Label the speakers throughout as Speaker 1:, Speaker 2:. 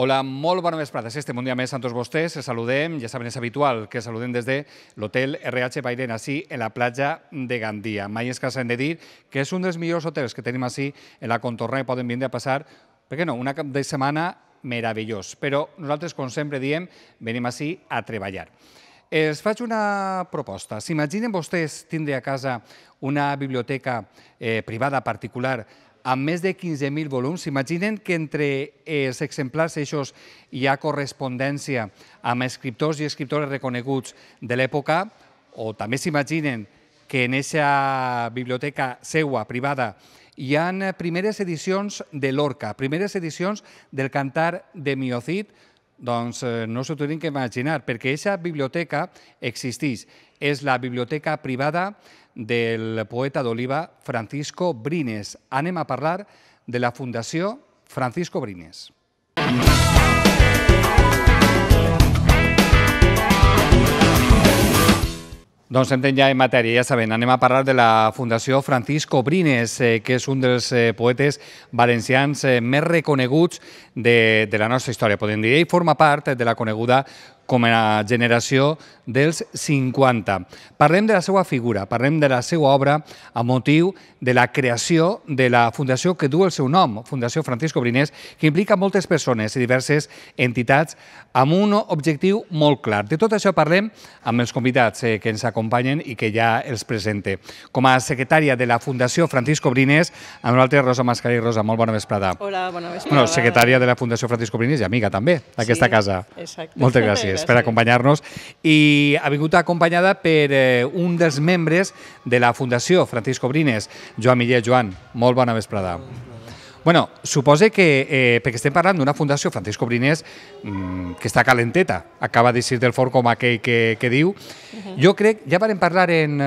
Speaker 1: Hola, molt bona vesprada. Estem un dia més amb tots vostès. Els saludem, ja saben, és habitual que saludem des de l'hotel RH Bairen, així, en la platja de Gandia. Mai és que s'han de dir que és un dels millors hotels que tenim així en la contorna i poden vindre a passar, per què no, una cap de setmana meravellós. Però nosaltres, com sempre diem, venim així a treballar. Els faig una proposta. S'imaginen vostès tindre a casa una biblioteca privada particular amb més de 15.000 volums. S'imaginen que entre els exemplars eixos hi ha correspondència amb escriptors i escriptores reconeguts de l'època, o també s'imaginen que en aquesta biblioteca seua, privada, hi ha primeres edicions de Lorca, primeres edicions del Cantar de Mio Cid. Doncs no s'ho tenen que imaginar, perquè aquesta biblioteca existeix. És la biblioteca privada del poeta d'Oliva Francisco Brines. Anem a parlar de la Fundació Francisco Brines. Doncs entrem ja en matèria, ja saben, anem a parlar de la Fundació Francisco Brines, que és un dels poetes valencians més reconeguts de la nostra història, podem dir. Ell forma part de la coneguda com a generació dels 50. Parlem de la seva figura, parlem de la seva obra a motiu de la creació de la fundació que du el seu nom, Fundació Francisco Brines, que implica moltes persones i diverses entitats amb un objectiu molt clar. De tot això parlem amb els convidats que ens acompanyen i que ja els presente. Com a secretària de la Fundació Francisco Brines, amb nosaltres Rosa Mascarell. Rosa, molt bona vesprada.
Speaker 2: Hola, bona vesprada.
Speaker 1: Secretària de la Fundació Francisco Brines i amiga també d'aquesta casa.
Speaker 2: Exacte.
Speaker 1: Moltes gràcies per acompanyar-nos. I ha vingut acompanyada per un dels membres de la Fundació Francisco Brines, Joan Millet. Joan, molt bona vesprada. Bueno, suposa que, perquè estem parlant d'una Fundació Francisco Brines que està calenteta, acaba d'eixir del forn com aquell que diu. Jo crec, ja vam parlar en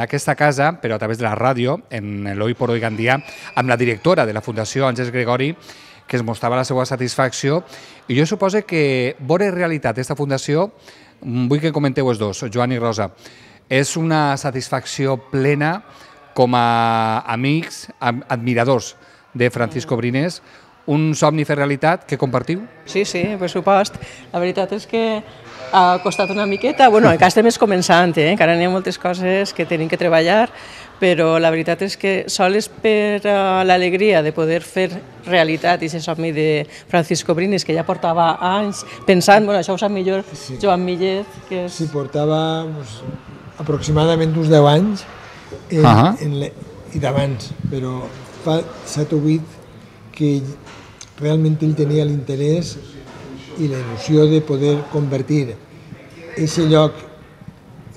Speaker 1: aquesta casa, però a través de la ràdio, en l'Hoy por Hoy Gandia, amb la directora de la Fundació, Àngels Gregori, que es mostrava la seva satisfacció, i jo suposo que veure realitat aquesta fundació, vull que comenteu els dos, Joan i Rosa, és una satisfacció plena com a amics, admiradors de Francisco Brines, un somni fer realitat que compartiu?
Speaker 2: Sí, per supost. La veritat és que ha costat una miqueta, bueno, encara estem començant, encara n'hi ha moltes coses que tenim que treballar, però la veritat és que sols per l'alegria de poder fer realitat aquest somni de Francisco Brines, que ja portava anys pensant, bueno, això ho sap millor Joan Millet, que és...
Speaker 3: Sí, portava aproximadament uns 10 anys i d'abans, però fa 7 o 8 que realment ell tenia l'interès i la il·lusió de poder convertir aquest lloc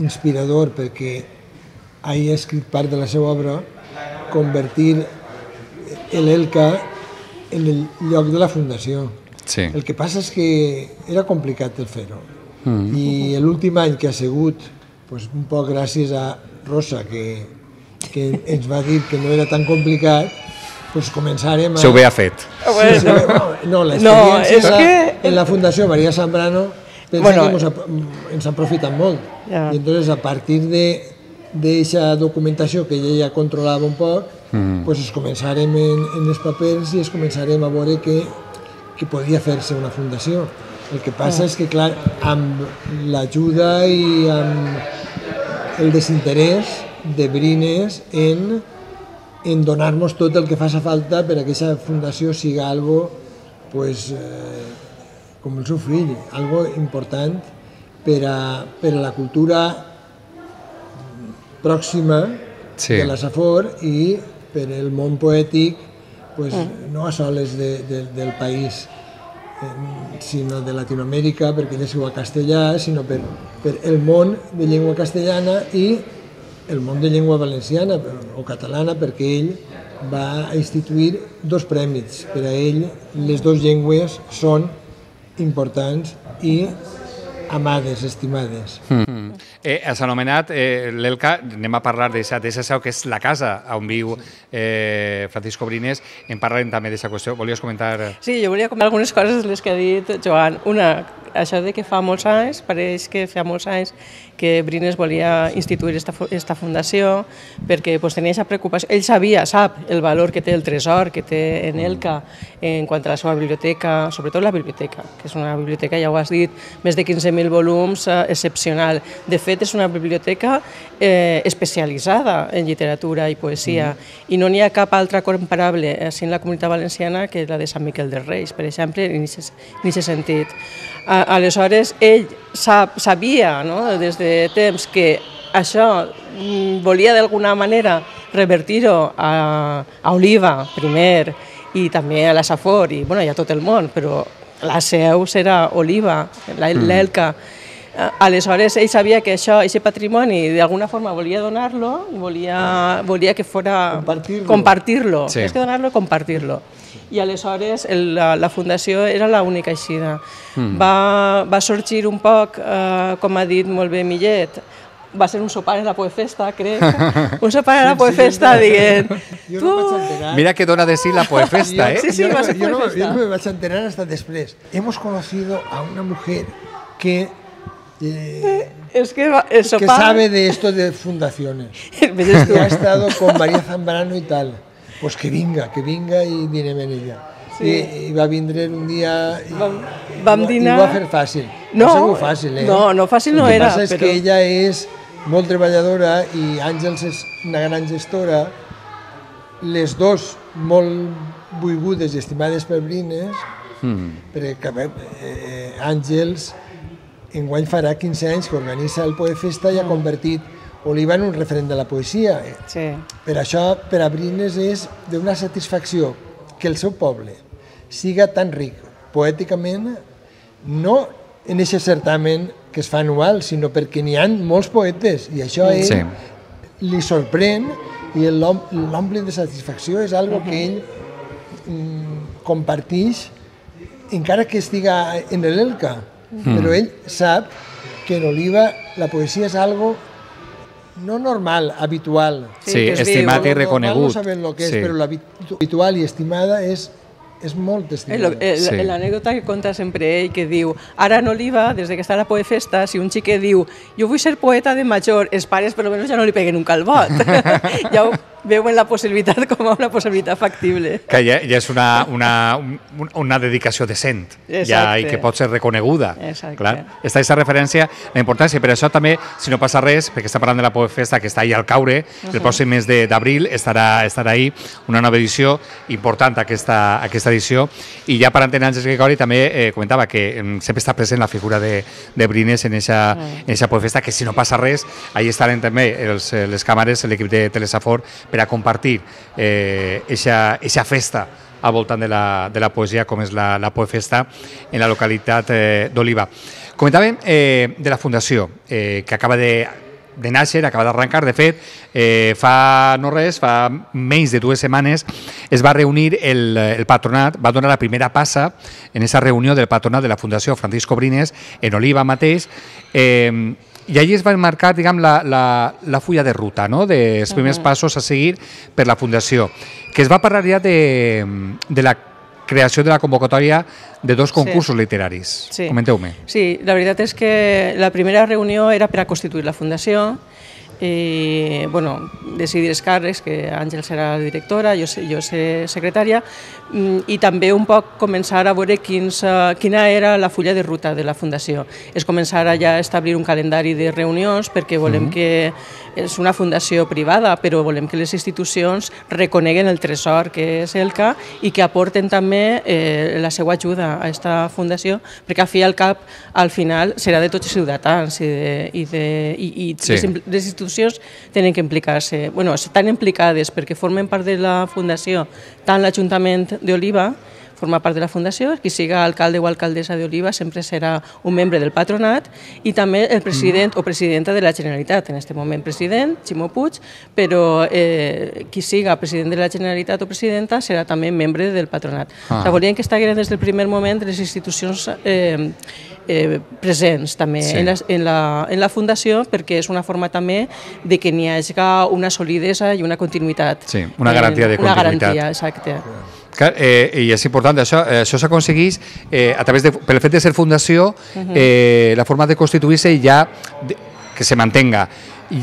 Speaker 3: inspirador, perquè ha escrit part de la seva obra, convertir l'Elca en el lloc de la Fundació.
Speaker 1: Sí.
Speaker 3: El que passa és que era complicat el fer-ho. I l'últim any que ha sigut, un poc gràcies a Rosa, que ens va dir que no era tan complicat, començarem a...
Speaker 1: Se ho ve ha fet.
Speaker 3: No, l'experiència en la Fundació Maria Zambrano pensa que ens ha aprofitat molt. I entonces, a partir d'aquesta documentació que ella ja controlava un poc, es començarem en els papers i es començarem a veure que podia fer-se una fundació. El que passa és que, clar, amb l'ajuda i amb el desinterès de Brines en donar-nos tot el que faci falta per a que aquesta fundació sigui algo com el seu fill, algo important per a la cultura pròxima de la Safor i per al món poètic, no a soles del país, sinó de Latinoamèrica, perquè ell és castellà, sinó per el món de llengua castellana i el món de llengua valenciana o catalana, perquè ell va instituir 2 premis. Per a ell les 2 llengües són importants i amades, estimades.
Speaker 1: Has anomenat l'Elca, anem a parlar d'aquesta seu que és la casa on viu Francisco Brines, en parlarem també d'aquesta qüestió. Volies comentar?
Speaker 2: Sí, jo volia comentar algunes coses de les que ha dit Joan. Una, això de que fa molts anys, pareix que fa molts anys que Brines volia instituir esta fundació perquè tenia aquesta preocupació. Ell sap el valor que té el tresor que té en Elka en quant a la seva biblioteca, sobretot la biblioteca, que és una biblioteca, ja ho has dit, més de 15.000 volums, excepcional. De fet, és una biblioteca especialitzada en literatura i poesia i no n'hi ha cap altra comparable així en la Comunitat Valenciana que la de Sant Miquel dels Reis, per exemple, en aquest sentit. Aleshores, ell sabia des de temps que això volia d'alguna manera revertir-ho a Oliva, primer, i també a la Safor, i a tot el món, però la seu serà Oliva, l'Elka. Aleshores, ell sabia que aquest patrimoni d'alguna forma volia donar-lo, volia que fora compartir-lo, més que donar-lo, compartir-lo. I aleshores la fundació era l'única eixida. Va sorgir un poc, com ha dit molt bé Millet, va ser un sopar a la Poefesta, crec. Un sopar a la Poefesta dient...
Speaker 1: Mira que dona de sí la Poefesta, ¿eh?
Speaker 2: Sí, va ser Poefesta.
Speaker 3: Yo no me vas a enterar hasta después. Hemos conocido a una mujer que sabe de esto de fundaciones. Que ha estado con María Zambrano y tal. Pues que venga y direm en ella. I va vindre un dia i ho va fer fàcil.
Speaker 2: No,
Speaker 3: va ser molt fàcil, eh?
Speaker 2: No, fàcil no era.
Speaker 3: El que passa és que ella és molt treballadora i Àngels és una gran gestora. Les dos molt volgudes i estimades per Brines, perquè Àngels enguany farà 15 anys que organitza el Poefesta i ha convertit Oliva en un referent de la poesia. Per això, per a Brines és d'una satisfacció que el seu poble siga tan ric poèticament, no en aquest certamen que es fa anual, sinó perquè n'hi ha molts poetes i això a ell li sorprèn i l'omple de satisfacció és algo que ell comparteix encara que estiga en l'Elka, però ell sap que en Oliva la poesia és algo no normal, habitual.
Speaker 1: Sí, estimat i reconegut.
Speaker 3: No sabem el que és, però l'habitual i estimada és molt estimada.
Speaker 2: L'anècdota que conta sempre ell, que diu, ara en Oliva, des que està a la Poefesta, si un xiquet diu, jo vull ser poeta de major, els pares per almenys ja no li peguen un calbot. Ja ho veuen la possibilitat com a una possibilitat factible.
Speaker 1: Que ja és una dedicació decent i que pot ser reconeguda. Està aquesta referència, la importància. Per això també, si no passa res, perquè està parlant de la Poefesta, que està ahí al caure, el pròxim mes d'abril estarà ahí una nova edició important, aquesta edició. I ja per entendre Àngels Gregori també comentava que sempre està present la figura de Brines en aquesta Poefesta, que si no passa res, ahí estaran també les càmeres, l'equip de Telesafor, per a compartir aquesta festa al voltant de la poesia com és la Poefesta en la localitat d'Oliva. Comentàvem de la Fundació, que acaba de nàixer, acaba d'arrencar. De fet, fa menys de 2 setmanes es va reunir el patronat, va donar la primera passa en aquesta reunió del patronat de la Fundació Francisco Brines en Oliva mateix, i allí es va marcar, diguem, la fulla de ruta, dels primers passos a seguir per la Fundació, que es va parlar ja de la creació de la convocatòria de 2 concursos literaris. Comenteu-me.
Speaker 2: Sí, la veritat és que la primera reunió era per a constituir la Fundació, decidir els càrrecs, que Àngels serà la directora, jo seré secretària, i també un poc començar a veure quina era la fulla de ruta de la Fundació. És començar a ja establir un calendari de reunions, perquè volem que és una fundació privada, però volem que les institucions reconeguen el tresor que és Elka i que aporten també la seva ajuda a aquesta fundació, perquè al fi i al cap, al final, serà de tots els ciutadans i les institucions tenen que implicar-se. Estan implicades perquè formen part de la fundació, tant l'Ajuntament d'Oliva forma part de la Fundació, qui siga alcalde o alcaldessa d'Oliva sempre serà un membre del patronat, i també el president o presidenta de la Generalitat, en aquest moment president, Ximo Puig, però qui siga president de la Generalitat o presidenta serà també membre del patronat. Volien que estiguin des del primer moment les institucions presents també en la Fundació, perquè és una forma també de que n'hi hagi una solidesa i una continuïtat.
Speaker 1: Sí, una garantia de continuïtat.
Speaker 2: Una garantia, exacte.
Speaker 1: I és important, això s'aconsegueix a través pel fet de ser fundació, la forma de constituir-se ja que se mantenga.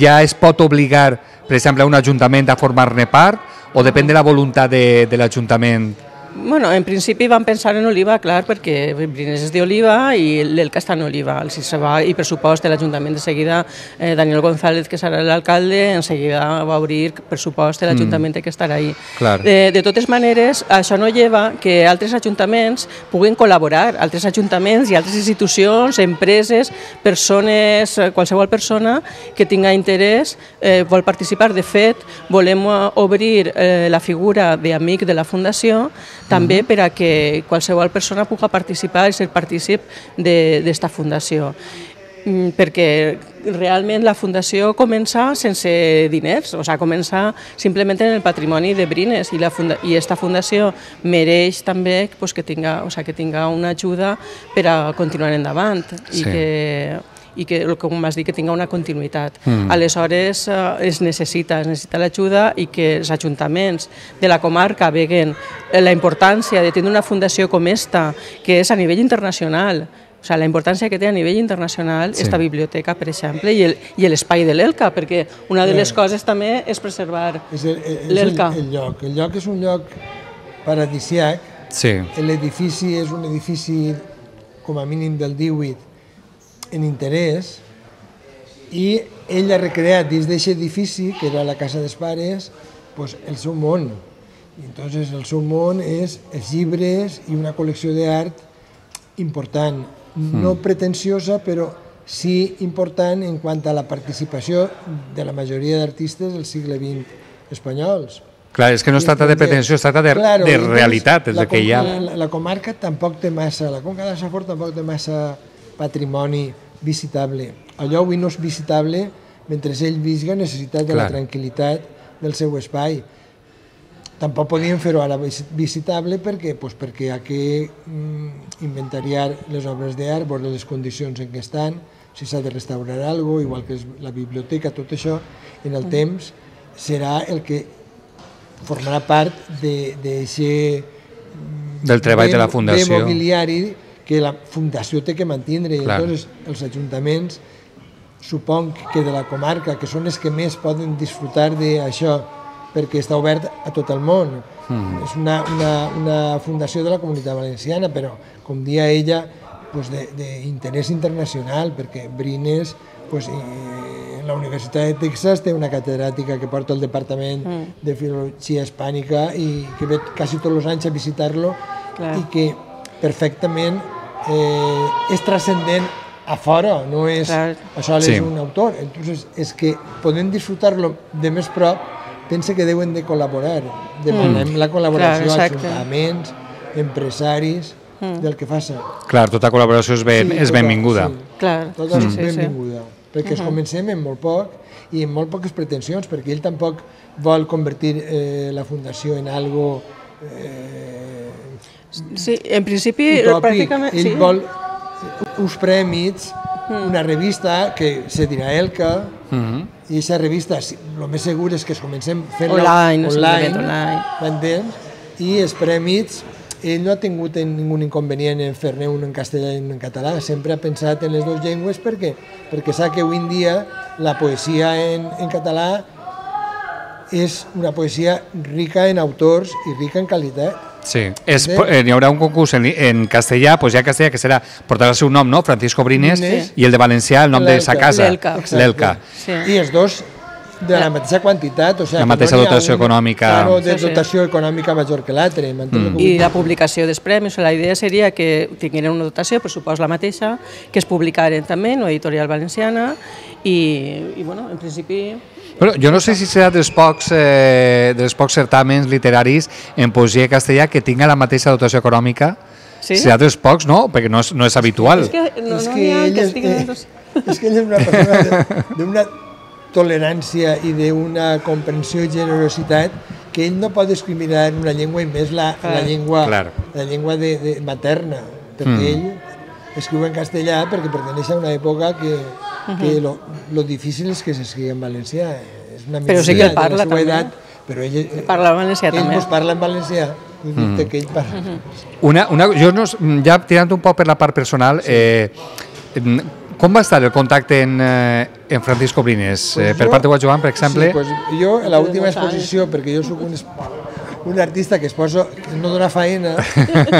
Speaker 1: Ja es pot obligar, per exemple, a un ajuntament a formar-ne part o depèn de la voluntat de l'Ajuntament?
Speaker 2: Bueno, en principi vam pensar en Oliva, clar, perquè Brines és d'Oliva i l'Elca està en Oliva. I pressupost de l'Ajuntament de seguida, Daniel González, que serà l'alcalde, en seguida va obrir pressupost de l'Ajuntament que estarà ahí. De totes maneres, això no lleva que altres ajuntaments puguin col·laborar, altres ajuntaments i altres institucions, empreses, persones, qualsevol persona que tinga interès vol participar. De fet, volem obrir la figura d'amic de la Fundació també per a que qualsevol persona pugui participar i ser partícip d'esta fundació. Perquè realment la fundació comença sense diners, o sigui, comença simplement en el patrimoni de Brines i aquesta fundació mereix també que tinga una ajuda per a continuar endavant i que, com vas dir, que tinga una continuïtat. Aleshores, es necessita l'ajuda i que els ajuntaments de la comarca veguen la importància de tenir una fundació com esta, que és a nivell internacional, o sigui, la importància que té a nivell internacional esta biblioteca, per exemple, i l'espai de l'Elca, perquè una de les coses també és preservar l'Elca.
Speaker 3: El lloc és un lloc paradisiac, l'edifici és un edifici com a mínim del 18 en interès, i ell ha recreat dins d'aquest edifici, que era la casa dels pares, el seu món. Entonces, el seu món és els llibres i una col·lecció d'art important, no pretensiosa, però sí important en quant a la participació de la majoria d'artistes del segle XX espanyols.
Speaker 1: Clar, és que no es tracta de pretensió, es tracta de realitat, és el que hi ha.
Speaker 3: La comarca tampoc té massa, la Conca de Safor tampoc té massa patrimoni visitable. Allò avui no és visitable mentre ell visca necessitat de la tranquil·litat del seu espai. Tampoc podíem fer-ho ara visitable perquè hi ha que inventariar les obres d'art, veure les condicions en què estan, si s'ha de restaurar alguna cosa, igual que la biblioteca, tot això en el temps serà el que formarà part
Speaker 1: del treball de la Fundació.
Speaker 3: De mobiliari que la Fundació té que mantenir. Llavors, els ajuntaments, suponc que de la comarca, que són els que més poden disfrutar d'això, perquè està obert a tot el món. És una fundació de la Comunitat Valenciana, però, com dia ella, d'interès internacional, perquè Brines, en la Universitat de Texas, té una catedràtica que porta el Departament de Filologia Hispànica i que ve quasi tots els anys a visitar-lo i que perfectament és transcendent a fora, no és això és un autor. Entonces, és que podem disfrutar-lo de més prop, pensa que deuen de col·laborar. Demanem la col·laboració a ajuntaments, empresaris, del que faça.
Speaker 1: Clar, tota col·laboració és benvinguda.
Speaker 3: Tota és benvinguda, perquè es comencem amb molt poc i amb molt poques pretensions, perquè ell tampoc vol convertir la fundació en algo
Speaker 2: sí, en principi
Speaker 3: pràcticament ell vol uns prèmits, una revista que se dirà Elca, i aquesta revista el més segur és que es comencem fent-la online, i els prèmits ell no ha tingut ningú inconvenient en fer-ne un en castellà i un en català, sempre ha pensat en les dues llengües perquè sap que avui en dia la poesia en català és una poesia rica en autors i rica en qualitat.
Speaker 1: Sí, hi haurà un concurs en castellà, doncs ja castellà, que portarà el seu nom, no? Francisco Brines, i el de valencià, el nom de sa casa, l'Elca.
Speaker 3: I els dos de la mateixa quantitat,
Speaker 1: la mateixa dotació econòmica.
Speaker 3: Claro, de dotació econòmica major que l'altre.
Speaker 2: I la publicació dels premis, la idea seria que tinguin una dotació, per supost la mateixa, que es publicaren també en l'editorial valenciana i, bueno, en principi...
Speaker 1: Jo no sé si serà dels pocs certàmens literaris en poesia castellà que tinga la mateixa dotació econòmica. Serà dels pocs, no? Perquè no és habitual.
Speaker 3: És que ell és una persona d'una tolerància i d'una comprensió i generositat que ell no pot discriminar una llengua i més la llengua materna, perquè ell escriu en castellà perquè perteneix a una època que lo difícil és que s'escrigui en valencià.
Speaker 2: Però sí que el parla també.
Speaker 3: Però ell
Speaker 2: parla en valencià també.
Speaker 3: Ell parla en valencià
Speaker 1: Jo, ja tirant un poc per la part personal, com va estar el contacte en Francisco Brines? Per part de Joan, per exemple?
Speaker 3: Sí, jo, a l'última exposició, perquè jo soc un artista que no dona faena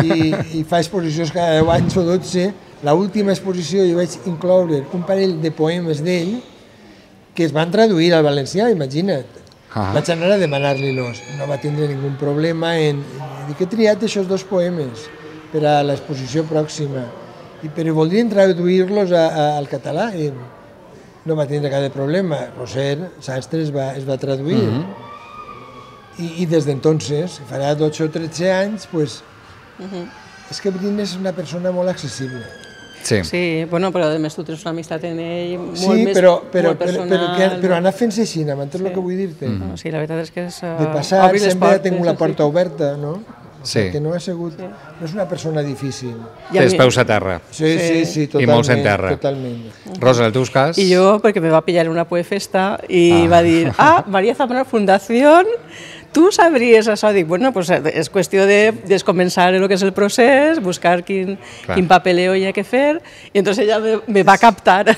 Speaker 3: i fa exposicions cada 10 anys o 12, l'última exposició jo vaig incloure un parell de poemes d'ell que es van traduir al valencià, imagina't. Vaig anar a demanar-li-los, no va tindre ningú problema en dir que he triat aquests 2 poemes per a l'exposició pròxima, però voldrien traduir-los al català i no va tindre cap problema. Roser Sastre es va traduir i des d'entonces, farà 12 o 13 anys, és que Brines és una persona molt accessible.
Speaker 2: Sí, bueno, però a més tu tens una amistat en ell molt més personal.
Speaker 3: Però anar fent-se així, m'entens el que vull dir-te?
Speaker 2: Sí, la veritat és que és...
Speaker 3: De passar, sempre ha tingut la porta oberta, no? Que no ha sigut... No és una persona difícil.
Speaker 1: Té els peus a terra.
Speaker 3: Sí, totalment.
Speaker 1: I molts en terra. Rosa, en el teu cas?
Speaker 2: I jo, perquè me va pillar una poefesta i va dir, María Zambrano Fundació... Tu sabries això? Dic, bueno, pues és qüestió de començar el que és el procés, buscar quin papeleo hi ha que fer, i entonces ella me va captar.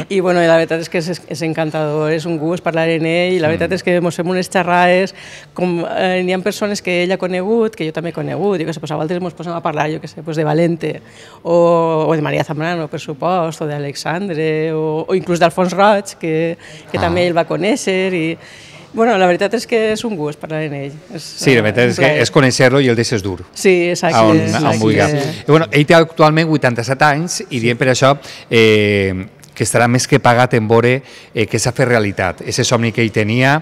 Speaker 2: I bueno, la veritat és que és encantador, és un gust parlar en ell, i la veritat és que ens fem unes xerrades, com n'hi ha persones que ell ha conegut, que jo també he conegut, i que a vegades ens posem a parlar, jo què sé, de Valente, o de María Zambrano, per supost, o d'Alexandre, o inclús d'Alfons Roig, que també ell va conèixer, i bueno, la veritat és que és un gust parlar en ell.
Speaker 1: Sí, la veritat és que és conèixer-lo i el deixes dur.
Speaker 2: Sí, exacte.
Speaker 1: On vulgui. Ell té actualment 87 anys i diem per això que estarà més que pagat en veure que s'ha fet realitat. Ese somni que ell tenia,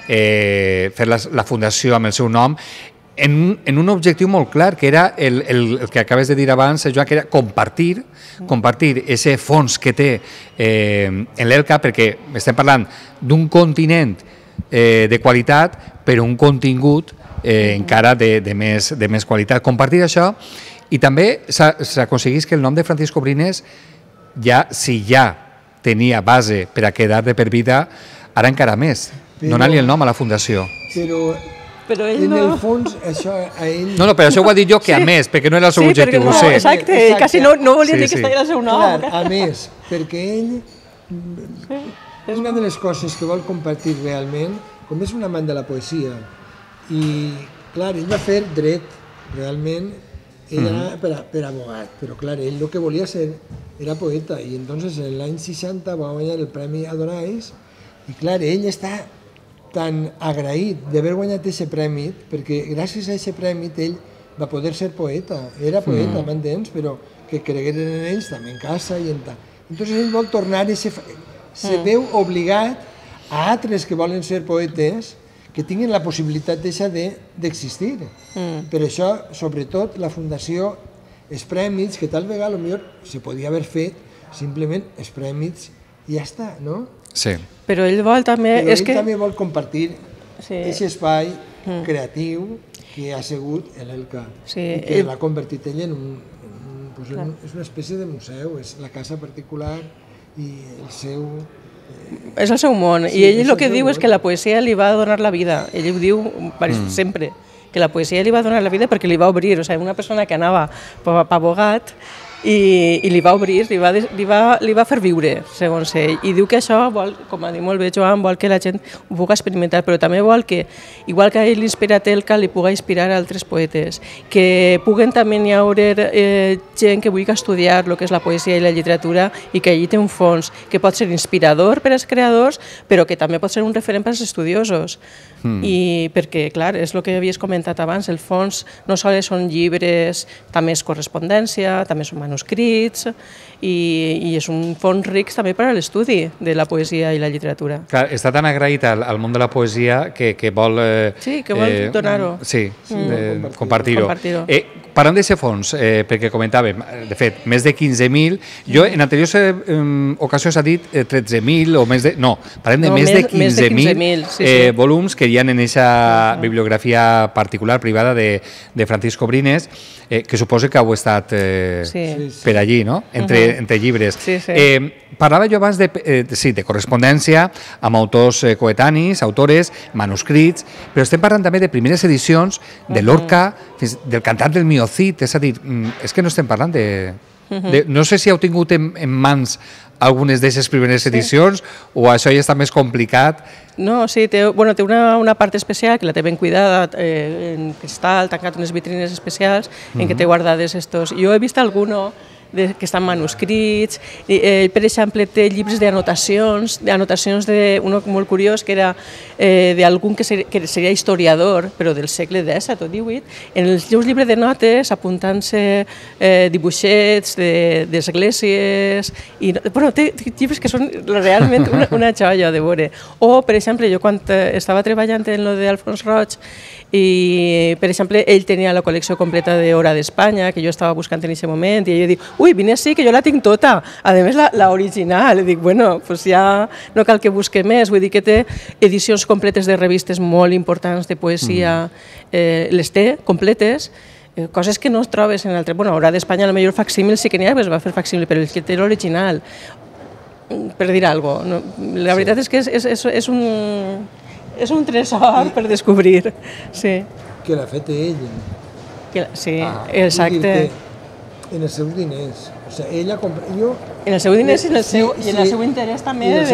Speaker 1: fer la fundació amb el seu nom, en un objectiu molt clar, que era el que acabes de dir abans, Joan, que era compartir ese fons que té en l'ELCA, perquè estem parlant d'un continent de qualitat, però un contingut encara de més qualitat. Compartir això, i també s'aconseguís que el nom de Francisco Brines, si ja tenia base per a quedar de per vida, ara encara més, donar-li el nom a la Fundació.
Speaker 2: Però ell
Speaker 3: en el fons, això a ell...
Speaker 1: No, però això ho ha dit jo que a més, perquè no era el seu objectiu, ho sé.
Speaker 2: Exacte, quasi no volia dir que estava el seu nom.
Speaker 3: Clar, a més, perquè ell... És una de les coses que vol compartir realment, com és un amant de la poesia. I, clar, ell va fer dret, realment, ell anava per abogat, però clar, ell el que volia ser era poeta, i entonces l'any 60 va guanyar el Premi Adorais, i clar, ell està tan agraït d'haver guanyat aquest premi, perquè gràcies a aquest premi ell va poder ser poeta, era poeta, m'entens, però que cregueren en ells també en casa i en tal. Entonces ell vol tornar se veu obligat a altres que volen ser poetes que tinguin la possibilitat d'existir. Per això, sobretot, la Fundació, els prèmits, que tal vegada potser se podia haver fet simplement els prèmits i ja està, no?
Speaker 1: Sí.
Speaker 2: Però ell vol també...
Speaker 3: Però ell també vol compartir aquest espai creatiu que ha sigut l'ELCA i que l'ha convertit ell en una espècie de museu, és la casa particular i el seu...
Speaker 2: És el seu món, i ell el que diu és que la poesia li va donar la vida. Ell ho diu sempre, que la poesia li va donar la vida perquè li va obrir. O sigui, una persona que anava pavogat i li va obrir, li va fer viure, segons ell. I diu que això vol, com ha dit molt bé Joan, vol que la gent ho pugui experimentar, però també vol que, igual que a ell l'inspira Elka, li pugui inspirar a altres poetes, que puguen també hi haure gent que vulgui estudiar el que és la poesia i la literatura i que allí té un fons que pot ser inspirador per als creadors, però que també pot ser un referent per als estudiosos. I perquè, clar, és el que havies comentat abans, el fons no sols són llibres, també és correspondència, també són manuscrits, i és un fons ric també per a l'estudi de la poesia i la literatura.
Speaker 1: Clar, està tan agraït al món de la poesia que vol...
Speaker 2: Sí, que vol donar-ho.
Speaker 1: Sí, compartir-ho. Parlant d'aquest fons, perquè comentàvem, de fet, més de 15.000, jo en anteriors ocasions ha dit 13.000 o més de... No, parlem de més de 15.000 volums que hi ha en aquesta bibliografia particular, privada de Francisco Brines, que suposa que heu estat per allí, no? Entre llibres. Parlava jo abans de correspondència amb autors coetanis, autores, manuscrits, però estem parlant també de primeres edicions de Lorca, del Cantar del Miocid, és a dir, és que no estem parlant de... No sé si heu tingut en mans algunes d'aquestes primeres edicions o això ja està més complicat.
Speaker 2: No, sí, té una part especial que la té ben cuidada, en cristal, tancat unes vitrines especials en què té guardades estos. Jo he vist alguno que estan manuscrits, per exemple té llibres d'anotacions, un molt curiós que era d'algun que seria historiador, però del segle XVII o XVIII, en els seus llibres de notes apuntant-se dibuixets d'esglésies, té llibres que són realment una joia de veure. O, per exemple, jo quan estava treballant en lo d'Alfons Roig, i, per exemple, ell tenia la col·lecció completa d'Hora d'Espanya, que jo estava buscant en aquest moment, i ell diu, ui, vine així, que jo la tinc tota, a més l'original. I dic, bueno, doncs ja no cal que busque més, vull dir que té edicions completes de revistes molt importants de poesia, les té completes, coses que no es trobes en altre... Bueno, Hora d'Espanya, potser facsímil sí que n'hi ha, es va fer facsímil, però el que té l'original, per dir alguna cosa. La veritat és que és un tresor per descobrir, sí.
Speaker 3: Que l'ha fet ell.
Speaker 2: Sí, exacte.
Speaker 3: En els seus diners. O sigui, ella compra...
Speaker 2: En els seus diners i en el seu interès també de la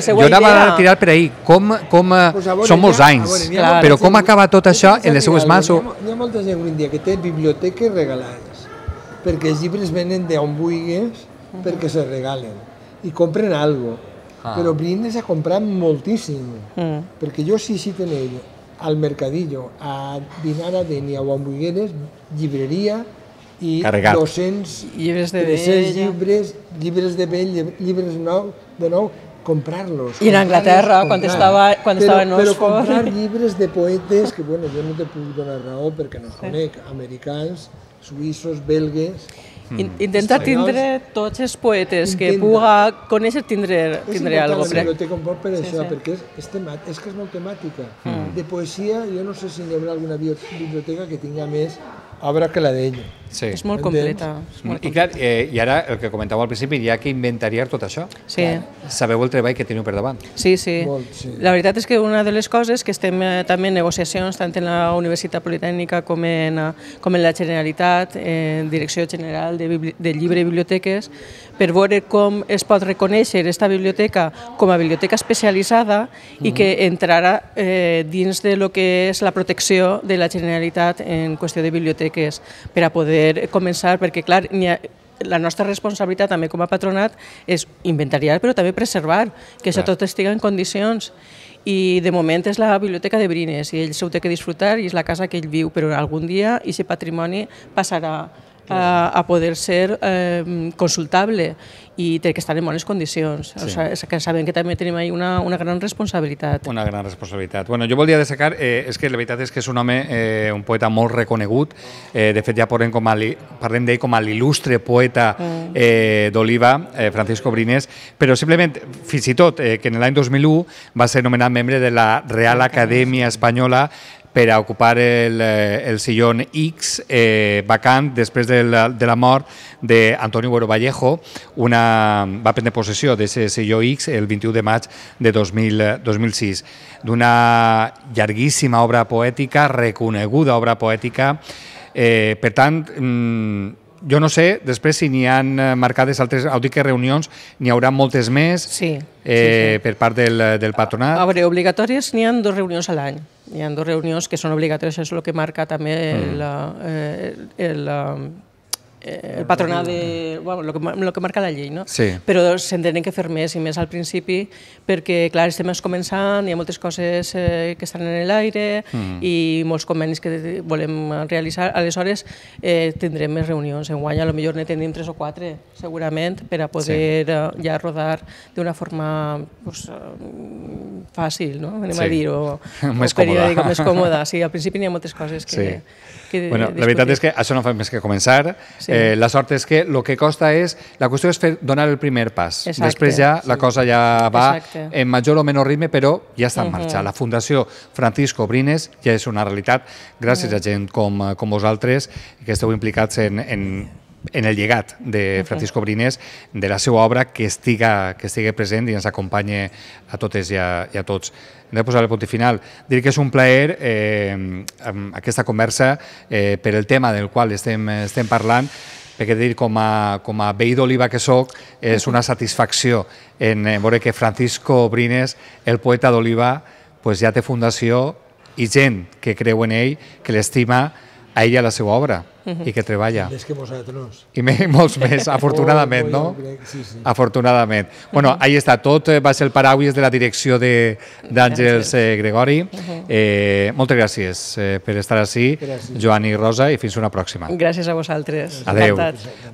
Speaker 2: seva idea.
Speaker 1: Jo anava a tirar per ahir. Són molts anys, però com acaba tot això en les seues mans?
Speaker 3: Hi ha molta gent avui en dia que té biblioteques regalades, perquè els llibres venen d'on vulguis perquè se regalen i compren alguna cosa. Però Brines ha comprat moltíssim, perquè jo sí tenia al Mercadillo, a Dinar a Denia o a Ambuigueres, llibreria i 200 llibres de vell, llibres de nou, comprar-los.
Speaker 2: I en Anglaterra, quan estava en Oxford.
Speaker 3: Però comprar llibres de poetes, que bueno, jo no te puc donar raó perquè no conec, americans, suïssos, belgues...
Speaker 2: Intenta tindre tots els poetes que puga conèixer, tindre alguna cosa.
Speaker 3: És important la biblioteca per això, perquè és que és molt temàtica. De poesia, jo no sé si hi haurà alguna biblioteca que tinga més obra que la d'ell.
Speaker 2: És molt completa.
Speaker 1: I clar, i ara el que comentàveu al principi, hi ha que inventariar tot això. Sabeu el treball que teniu per davant.
Speaker 2: Sí. La veritat és que una de les coses que estem també en negociacions, tant en la Universitat Politècnica com en la Generalitat, en Direcció General de Llibre i Biblioteques, per veure com es pot reconèixer aquesta biblioteca com a biblioteca especialitzada i que entrarà dins de lo que és la protecció de la Generalitat en qüestió de biblioteques per a poder començar, perquè clar, la nostra responsabilitat també com a patronat és inventariar però també preservar, que això tot estigui en condicions. I de moment és la biblioteca de Brines i ell s'ho té que disfrutar i és la casa que ell viu, però algun dia aquest patrimoni passarà a poder ser consultable i té que estar en bones condicions. Sabem que també tenim ahí una gran responsabilitat.
Speaker 1: Una gran responsabilitat. Jo volia destacar, és que la veritat és que és un home, un poeta molt reconegut. De fet, ja parlem d'ell com a l'il·lustre poeta d'Oliva, Francisco Brines, però simplement, fins i tot, que en l'any 2001 va ser nomenat membre de la Real Acadèmia Espanyola per a ocupar el sillón X vacant després de la mort d'Antonio Buero Vallejo. Va prendre possessió d'aquest silló X el 21 de maig de 2006. D'una llarguíssima obra poètica, reconeguda obra poètica. Per tant, jo no sé, després si n'hi ha marcades altres, reunions, n'hi haurà moltes més per part del patronat.
Speaker 2: A veure, obligatòries n'hi ha 2 reunions a l'any. Hi ha 2 reunions que són obligatòries, això és el que marca també el patronat de... el que marca la llei, no?
Speaker 1: Sí.
Speaker 2: Però se'n tenen que fer més, i més al principi, perquè, clar, estem començant, hi ha moltes coses que estan en l'aire i molts convenis que volem realitzar. Aleshores, tindrem més reunions. Enguany, potser ne tindrem 3 o 4, segurament, per a poder ja rodar d'una forma fàcil, no? Anem a dir-ho.
Speaker 1: Més còmoda.
Speaker 2: Més còmoda. Sí, al principi n'hi ha moltes coses que
Speaker 1: la veritat és que això no fa més que començar. La sort és que el que costa és... La qüestió és donar el primer pas. Després ja la cosa ja va en major o menor ritme, però ja està en marxa. La Fundació Francisco Brines ja és una realitat gràcies a gent com vosaltres que esteu implicats en el llegat de Francisco Brines, de la seva obra, que estigui present i ens acompanye a totes i a tots. Hem de posar el punt final. Dir que és un plaer aquesta conversa per el tema del qual estem parlant, perquè dir com a veí d'Oliva que soc, és una satisfacció en veure que Francisco Brines, el poeta d'Oliva, ja té fundació i gent que creu en ell, que l'estima a ell i a la seva obra i que treballa.
Speaker 3: Més que nosaltres.
Speaker 1: I molts més, afortunadament, no? Afortunadament. Bueno, ahí està tot, va ser el paraules de la direcció d'Àngels Gregori. Moltes gràcies per estar ací, Joan i Rosa, i fins una pròxima.
Speaker 2: Gràcies a vosaltres.
Speaker 1: Adéu.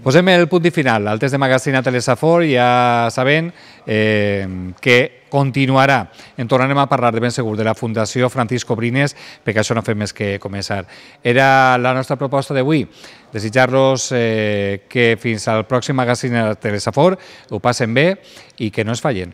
Speaker 1: Posem el punt i final. Al test de Magazine a Telesafor, ja sabent que continuarà. En tornarem a parlar de ben segur de la Fundació Francisco Brines, perquè això no fem més que començar. Era la nostra proposta d'avui. Desitjar-los que fins al pròxim Magazine a Telesafor ho passen bé i que no es fallen.